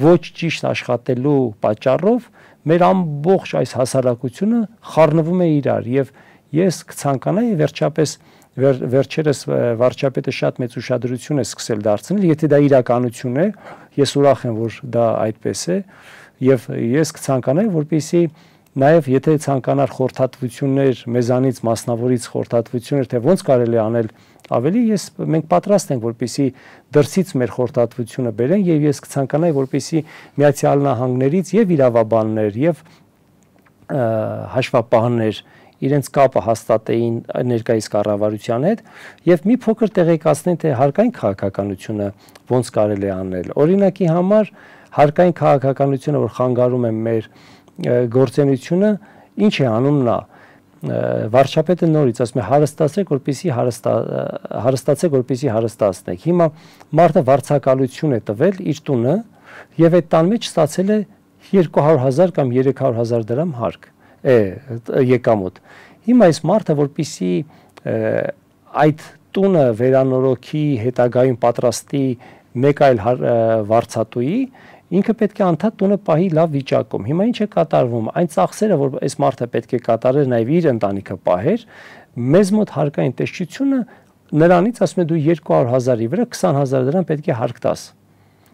ոչ ճիշտ աշխատելու պատճառով մեր ամբողջ այս հասարակությունը խառնվում է իրար եւ ես կցանկանայի վերջապես վեր, վերջերս վարչապետը շատ մեծ ուշադրություն է սկսել դարձնել, եթե դա իրականություն է, ես ուրախ եմ, որ դա այդպես է եւ ես կցանկանայի, որպեսզի նաեւ եթե ցանկանար խորհրդատվություններ մեզանից մասնավորից խորհրդատվություններ, թե ոնց կարելի է անել ավելի, ես մենք պատրաստ ենք, որպեսզի դրսից մեր խորհրդատվությունը բերեն եւ ես կցանկանայի, որպեսզի Միացյալ Նահանգներից եւ իրավաբաններ եւ հաշվապահներ իրենց կապը հաստատեին ներկայիս կառավարության հետ եւ մի փոքր տեղեկացնեն, թե հարկային քաղաքականությունը ոնց կարելի է անել։ Օրինակի համար հարկային քաղաքականությունը, որ խանգարում է մեր գործունեությունը, ինչ է անում նա։ Վարչապետը նորից ասում է հարստացեք, որպեսզի հարստացեք, որպեսզի հարստացնեք։ Հիմա մարդը վարձակալություն է տվել իր տունը եւ այդ տան մեջ ստացել է երկու հարյուր հազար կամ երեք հարյուր հազար դրամ հարկ է եկամուտ։ Հիմա այս մարդը, որպեսզի այդ տունը վերանորոգի, հետագայում պատրաստի մեկ այլ վարձատուի, ինքը պետք է անդադ տունը պահի լավ վիճակում։ Հիմա ինչ է կատարվում, այն ծախսերը, որ այս մարդը պետք է կատարեր, նաև իր ընտանիքը պահեր, մեզ մոտ հարկային տեսչությունը նրանից ասում է դու երկու հարյուր հազարի վրա քսան հազար դրամ պետք է հարկ տաս։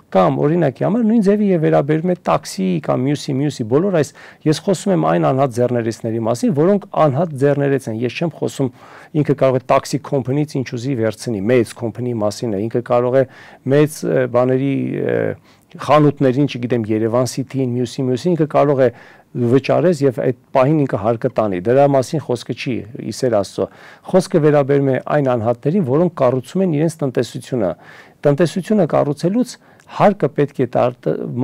Կամ օրինակի համար նույն ձևի եւ վերաբերում է տաքսի կամ մյուսի մյուսի բոլոր այս ես խոսում եմ այն անհատ ձեռներեցների մասին, որոնք անհատ ձեռներեց են։ Ես չեմ խոսում ինքը կարող է տաքսի կոմպանիից ինչ ուզի վերցնի, մեծ կոմպանիի մասին է, ինքը կարող է մեծ բաների խանութներին, չգիտեմ, Երևան City-ին, մյուսի մյուսի ինքը կարող է վճարես եւ այդ պահին ինքը հարկը տանի։ Դրա մասին խոսքը չի, իսեր Աստծո։ Խոսքը վերաբերում է այն անհատներին, որոնք կառուցում են իրենց տնտեսությունը։ Տնտեսությունը կառուցելուց հարկը պետք է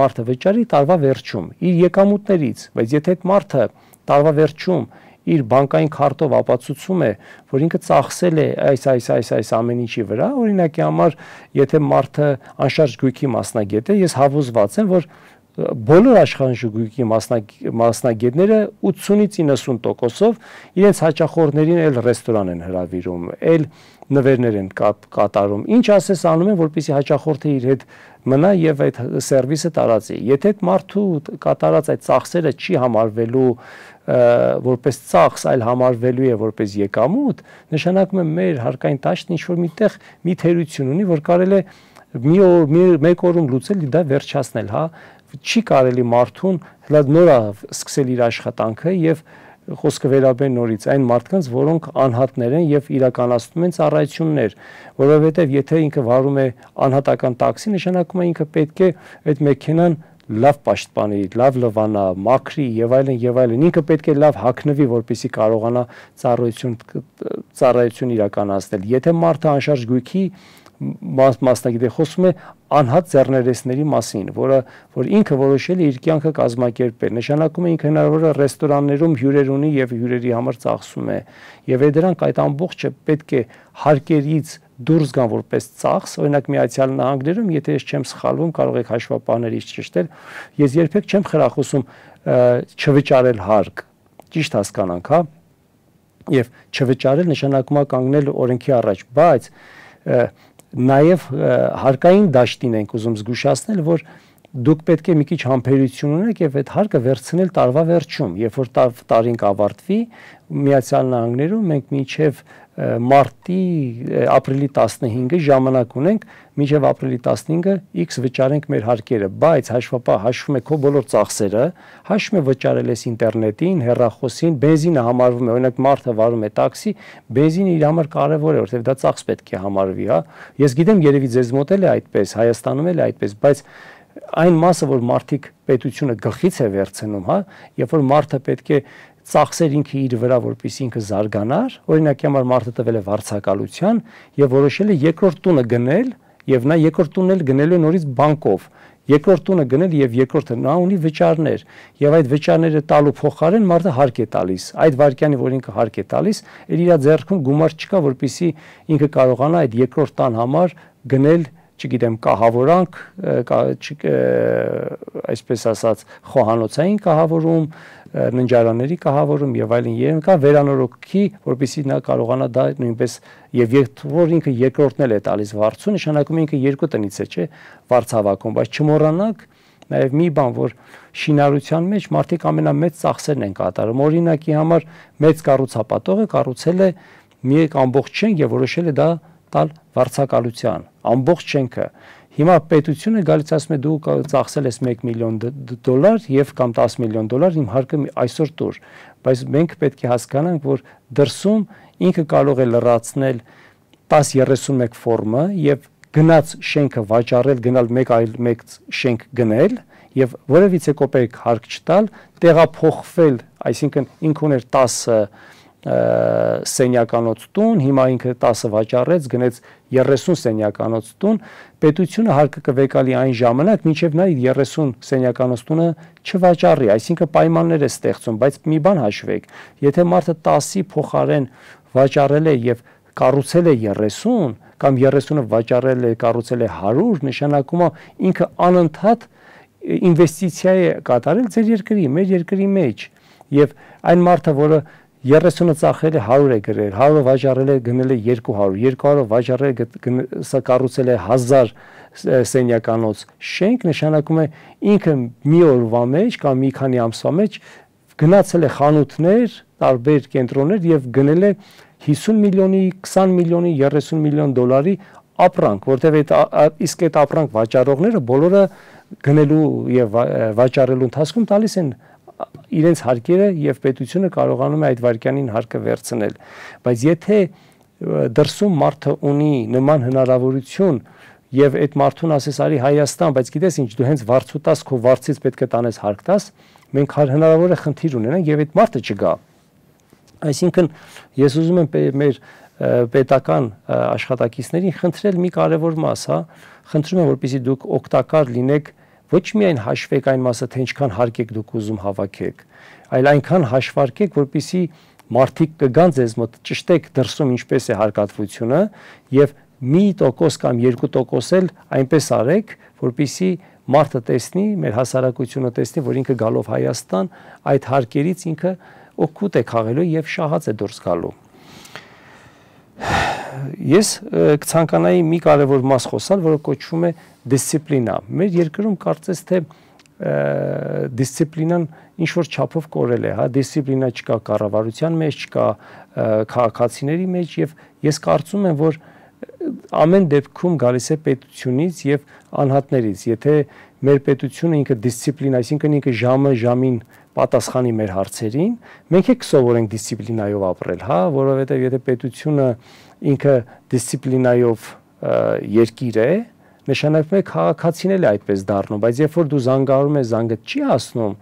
մարդը վճարի տարվա վերջում իր եկամուտներից, բայց եթե այդ մարդը տարվա վերջում իր բանկային քարտով ապացուցում է, որ ինքը ծախսել է այս այս այս այս ամեն ինչի վրա, օրինակի համար, եթե մարդը անշարժ գույքի մասնագետ է, ես հավուզված եմ, որ բոլոր աշխարհի մասնագետները ութսունից իննսուն տոկոսով իրենց հաճախորդներին էլ ռեստորան են հրավիրում, էլ նվերներ են կատարում։ Ինչ ասես անում են, որպեսզի հաճախորդը իր հետ մնա եւ այդ սերվիսը տարածի։ Եթե այդ մարդու կատարած այդ ծախսերը չի համարվելու որպես ծախս, այլ համարվելու է որպես եկամուտ, նշանակում է մեր հարկային տաշտն ինչ որ միտեղ մի թերություն ունի, որ կարելի է մի օր մեկ օրում լուծել դա վերջացնել, հա, չի կարելի մարդուն նորա սկսել իր աշխատանքը եւ խոսքը վերաբերում նորից այն մարդկանց, որոնք անհատներ են եւ իրականացնում են ծառայություններ, որովհետեւ եթե ինքը վարում է անհատական տաքսի, նշանակում է ինքը պետք է այդ մեքենան լավ պաշտպանի, լավ լվանա, մաքրի եւ այլն եւ այլն։ Ինքը պետք է լավ հագնվի, որպեսզի կարողանա ծառայություն ծառայություն իրականացնել։ Եթե մարդը անշարժ գույքի մասնագետ է, խոսում է անհատ ձեռներեցների մասին, որը որ ինքը որոշել է իր կյանքը կազմակերպել, նշանակում է ինքը հնարավոր է ռեստորաններում հյուրեր ունի եւ հյուրերի համար ծախսում է, եւ այդ դրանք այդ ամբողջը պետք է հարկերից դուրս գան որպես ծախս, օրինակ Միացյալ Նահանգներում, եթե ես չեմ սխալվում, կարող եք հաշվապահներից ճշտել, ես երբեք չեմ խրախուսում չվճարել հարկ, ճիշտ հասկանանք, հա, եւ չվճարել նշանակում է կանգնել օրենքի առաջ, բայց Նաև հարկային դաշտին ենք ուզում զգուշացնել, որ դուք պետք է մի քիչ համբերություն ունեք եւ այդ հարկը վերցնել տարվա վերջում, երբ որ տարին կավարտվի, Միացյալ Նահանգներում մենք մինչեւ մարտի ապրիլի տասնհինգը ժամանակ ունենք, մինչև ապրիլի տասնհինգը X վճարենք մեր հարկերը, բայց հաշվապահ հաշվում է քո բոլոր ծախսերը, հաշվում է վճարել ես ինտերնետին, հեռախոսին, բենզինը համարվում է, օրինակ մարդը վարում է տաքսի, բենզինը իր համար կարևոր է, որովհետև դա ծախս պետք է համարվի, հա։ Ես գիտեմ, երևի ձեզ մոտ էլ է այդպես, Հայաստանում էլ է այդպես, բայց այն մասը, որ մարդիկ պետությունը գլխից է վերցնում, հա, երբ որ մարդը պետք է ծախսեր ինքը իր վրա, որպեսզի ինքը զարգանար, օրինակի համար մարդը տվել է վարձակալության եւ որոշել է երկրորդ տունը գնել եւ նա երկրորդ տունն էլ գնելու է նորից բանկով, երկրորդ տունը գնել եւ երկրորդը նա ունի վճարներ եւ այդ վճարները տալու փոխարեն մարդը հարկ է տալիս, այդ վարկյանի, որ ինքը հարկ է տալիս, իր իր ձեռքում գումար չկա, որպեսզի ինքը կարողանա այդ երկրորդ տան համար գնել, չգիտեմ, կահավորանք, այսպես ասած, խոհանոցային կահավորում, ննջարանների կահավորում եւ այլն եւ կա վերանորոգքի, որպեսզի նա կարողանա դա նույնպես եւ որ ինքը երկրորդն էլ է տալիս վարձու, նշանակում է ինքը երկու տնից է, չէ, վարձ հավաքում, բայց չմոռանաք նաեւ մի բան, որ շինարարության մեջ մարդիկ ամենամեծ ծախսերն են կատարում, օրինակի համար մեծ կառուցապատողը կառուցել է մի ամբողջ շենք եւ որոշել է դա տալ վարձակալության, ամբողջ շենքը։ Հիմա պետությունը գալիս ասում է դու ծախսել ես մեկ միլիոն դոլար եւ կամ տասը միլիոն դոլար իմ հարկը այսօր տուր, բայց մենք պետք է հասկանանք, որ դրսում ինքը կարող է լրացնել տասը երեսունմեկ ֆորմը եւ գնաց շենքը վաճառել, գնալ մեկ այլ մեկ շենք գնել եւ որևիցե կոպեկ հարկ չտալ, տեղափոխվել, այսինքն ինքը ուներ տասը սենյականոց տուն, հիմա ինքը տասը վաճառեց, գնեց երեսուն սենյականոց տուն, պետությունը հարկը կվեկալի այն ժամանակ, մինչև նա երեսուն սենյականոց տունը չվաճառի, այսինքն պայմաններ է ստեղծում, բայց մի բան հաշվեք, եթե մարդը տասի փոխարեն վաճառել է եւ կառուցել է երեսուն, կամ երեսունը վաճառել է, կառուցել է հարյուր, նշանակում է ինքը անընդհատ ինվեստիցիա է կատարել ձեր երկրի, մեր երկրի մեջ, եւ այն մարդը, որը երեսունը ծախել է հարյուր է գրել, հարյուրը վաճառել է գնել է երկու հարյուր, երկու հարյուրը վաճառել է սա կառուցել է հազար սենյականոց շենք, նշանակում է ինքը մի օրվա մեջ կամ մի քանի ամսվա մեջ գնացել է խանութներ, տարբեր կենտրոններ եւ գնել է հիսուն միլիոնի, քսան միլիոնի, երեսուն միլիոն դոլարի ապրանք, որտեղ այդ իսկ այդ ապրանք վաճառողները բոլորը գնելու եւ վաճառելու ընթացքում տալիս են իրենց հարկերը եւ պետությունը կարողանում է այդ վարկյանին հարկը վերցնել, բայց եթե դրսում մարդը ունի նման հնարավորություն եւ այդ մարդուն ասես արի Հայաստան, բայց գիտես ինչ, դու հենց վարձու տաս, քո վարձից պետք է տանես հարկ տաս, մենք հնարավոր է խնդիր ունենանք եւ այդ մարդը չգա։ Այսինքն ես ուզում եմ մեր պետական աշխատակիցներին խնդրել մի կարևոր մաս, հա, խնդրում եմ, որպեսզի դուք օգտակար լինեք ոչ միայն հաշվեք այն մասը, թե ինչքան հարկ եք դուք ուզում հավաքեք, այլ այնքան հաշվարկեք, որպեսզի մարդիկ կգան ձեզ մոտ, ճշտեք դրսում ինչպես է հարկատվությունը եւ մի տոկոս կամ երկու տոկոս էլ այնպես արեք, որպեսզի մարդը տեսնի, մեր հասարակությունը տեսնի, որ ինքը գալով Հայաստան այդ հարկերից ինքը օգուտ է քաղելու եւ շահած է դուրս գալու։ Ես կցանկանայի մի կարևոր մաս խոսալ, որը կոչվում է դիսցիպլինա։ Մեր երկրում կարծես թե դիսցիպլինան ինչ որ չափով կորել է, հա, դիսցիպլինա չկա կառավարության մեջ, չկա քաղաքացիների մեջ եւ ես կարծում եմ, որ ամեն դեպքում գալիս է պետությունից եւ անհատներից։ Եթե մեր պետությունը ինքը դիսցիպլին, այսինքն ինքը ժամը ժամին պատասխանի մեր հարցերին, մենք եք սովորենք դիսցիպլինայով ապրել, հա, որովհետեւ եթե պետությունը ինքը դիսցիպլինայով երկիր է, նշանակում է քաղաքացին էլ է այդպես դառնում, բայց երբ որ դու զանգահարում ես, զանգը չի հասնում,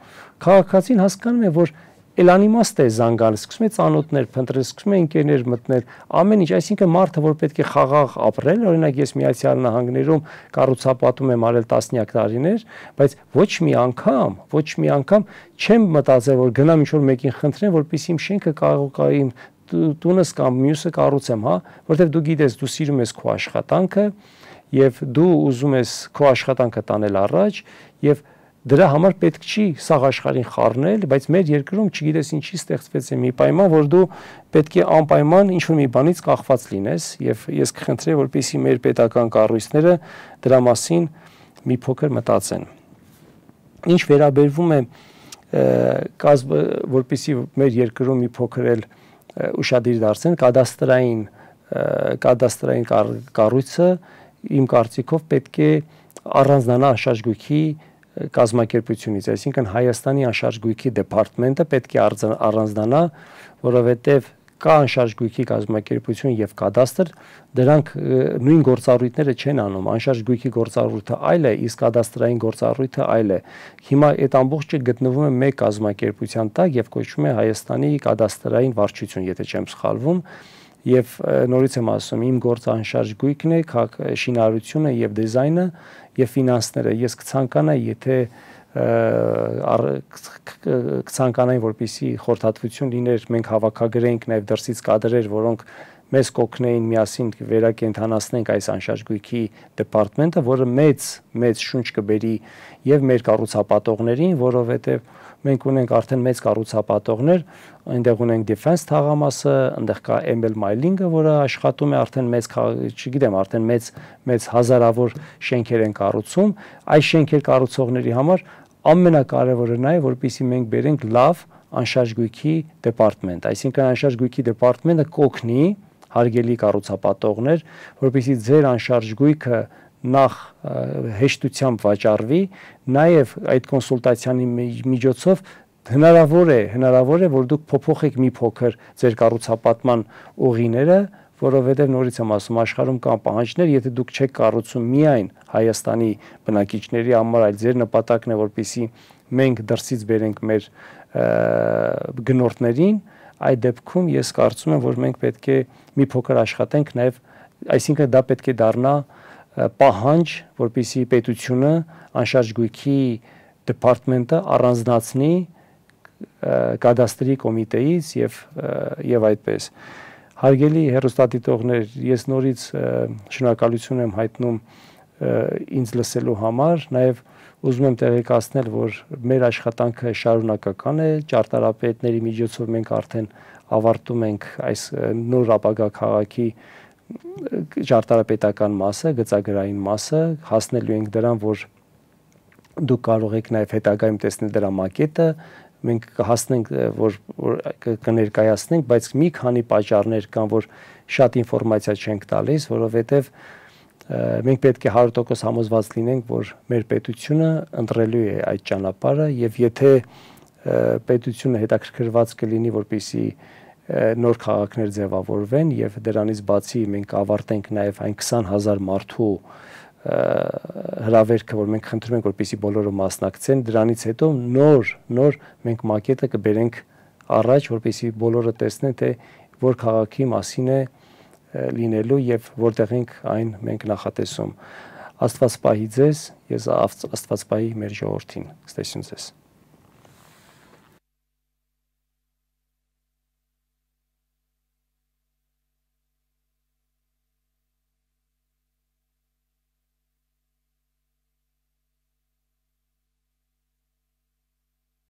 քաղաքացին հասկանում է, որ Էլանիմաստ է զանգան, սկսում է ծանոթներ փնտրել, սկսում է ընկերներ մտնել, ամեն ինչ, այսինքն մարդը, որ պետք է խաղաղ ապրել, օրինակ ես Միացյալ Նահանգներում կառուցապատում եմ արել տասնյակ տարիներ, բայց ոչ մի անգամ, ոչ մի անգամ չեմ մտածել, որ գնամ ինչ-որ մեկին խնդրեմ, որպեսզի իմ շենքը կարող է իմ տունս կամ մյուսը կառուցեմ, հա, որովհետև դու գիտես, դու սիրում ես քո աշխատանքը եւ դու ուզում ես քո աշխատանքը տանել առաջ եւ դրա համար պետք չի սաղ աշխարհին խառնել, բայց մեր երկրում չգիտես ինչի ստեղծվեց է մի պայման, որ դու պետք է անպայման ինչ-որ մի բանից կախված լինես եւ ես կխնդրեի, որպեսզի մեր պետական կառույցները դրա մասին մի փոքր մտածեն։ Ինչ վերաբերվում է կազմ, որպեսզի մեր երկրում մի փոքր էլ ուշադիր դարձնեն, կադաստրային կադաստրային կառույցը իմ կարծիքով պետք է առանձնանա անշարժ գույքի կազմակերպությունից, այսինքն Հայաստանի անշարժ գույքի դեպարտամենտը պետք է առանձնանա, որովհետև կա անշարժ գույքի կազմակերպություն եւ կադաստր, դրանք նույն գործառույթները չեն անում, անշարժ գույքի գործառույթը այլ է, իսկ կադաստրային գործառույթը այլ է։ Հիմա այդ ամբողջը գտնվում է մեկ կազմակերպության տակ եւ կոչվում է Հայաստանի կադաստրային վարչություն, եթե չեմ սխալվում, եւ նորից եմ ասում, իմ գործը անշարժ գույքն է, շինարարությունը եւ դիզայնը եւ ֆինանսները։ Ես կցանկանայի, եթե կցանկանային, որպեսզի խորհրդատվություն լիներ, մենք հավաքագրենք նաեւ դրսից կադրեր, որոնք մեզ կօգնեին միասին վերակենդանացնենք այս անշարժ գույքի դեպարտամենտը, որը մեծ մեծ շունչ կբերի եւ մեր կառուցապատողներին, որովհետեւ մենք ունենք արդեն մեծ կառուցապատողներ, այնտեղ ունենք Defense թաղամասը, այնտեղ կա M L Mining-ը, որը աշխատում է արդեն մեծ, չգիտեմ, արդեն մեծ մեծ հազարավոր շենքեր են կառուցում։ Այս շենքեր կառուցողների համար ամենակարևորը նա է, որպեսզի մենք բերենք լավ անշարժ գույքի դեպարտամենտ, այսինքն անշարժ գույքի դեպարտամենտը կօգնի հարգելի կառուցապատողներ, որպեսզի ձեր անշարժ գույքը նախ հեշտությամբ վաճառվի, նաև այդ կոնսուլտացիայի միջոցով հնարավոր է, հնարավոր է, որ դուք փոփոխեք մի փոքր ձեր կառուցապատման ուղիները, որովհետև նորից եմ ասում, աշխարհում կան պահանջներ, եթե դուք չեք կառուցում միայն Հայաստանի բնակիչների համար, այլ ձեր նպատակն է, որպեսզի մենք դրսից բերենք մեր գնորդներին, այդ դեպքում ես կարծում եմ, որ մենք պետք է մի փոքր աշխատենք նաև, այսինքն դա պետք է դառնա պահանջ, որպեսզի պետությունը անշարժ գույքի դեպարտամենտը առանձնացնի կադաստրի կոմիտեից եւ եւ այդպես։ Հարգելի հեռուստադիտողներ, ես նորից շնորհակալություն եմ հայտնում ինձ լսելու համար, նաև ուզում եմ տեղեկացնել, որ մեր աշխատանքը շարունակական է, ճարտարապետների միջոցով մենք արդեն ավարտում ենք այս նոր ապագա քաղաքի ճարտարապետական մասը, գծագրային մասը, հասնելու ենք դրան, որ դուք կարող եք նաև հետագայում տեսնել դրա մակետը, մենք կհասնենք, որ կներկայացնենք, բայց մի քանի պատճառներ կան, որ շատ ինֆորմացիա չենք տալիս, որովհետև մենք պետք է հարյուր տոկոս համոզված լինենք, որ մեր պետությունը ընտրելու է այդ ճանապարհը եւ եթե պետությունը հետաքրքրված կլինի, որպեսզի նոր քաղաքներ ձևավորվեն եւ դրանից բացի մենք ավարտենք նաեւ այն քսան հազար մարդու հրավերքը, որ մենք խնդրում ենք, որպեսզի բոլորը մասնակցեն, դրանից հետո նոր նոր մենք մակետը կբերենք առաջ, որպեսզի բոլորը տեսնեն, թե որ քաղաքի մասին է լինելու եւ որտեղ ենք այն մենք նախատեսում։ Աստված պահի ձեզ, ես Աստված պահի մեր ժողովրդին։ Ստեսություն ձեզ։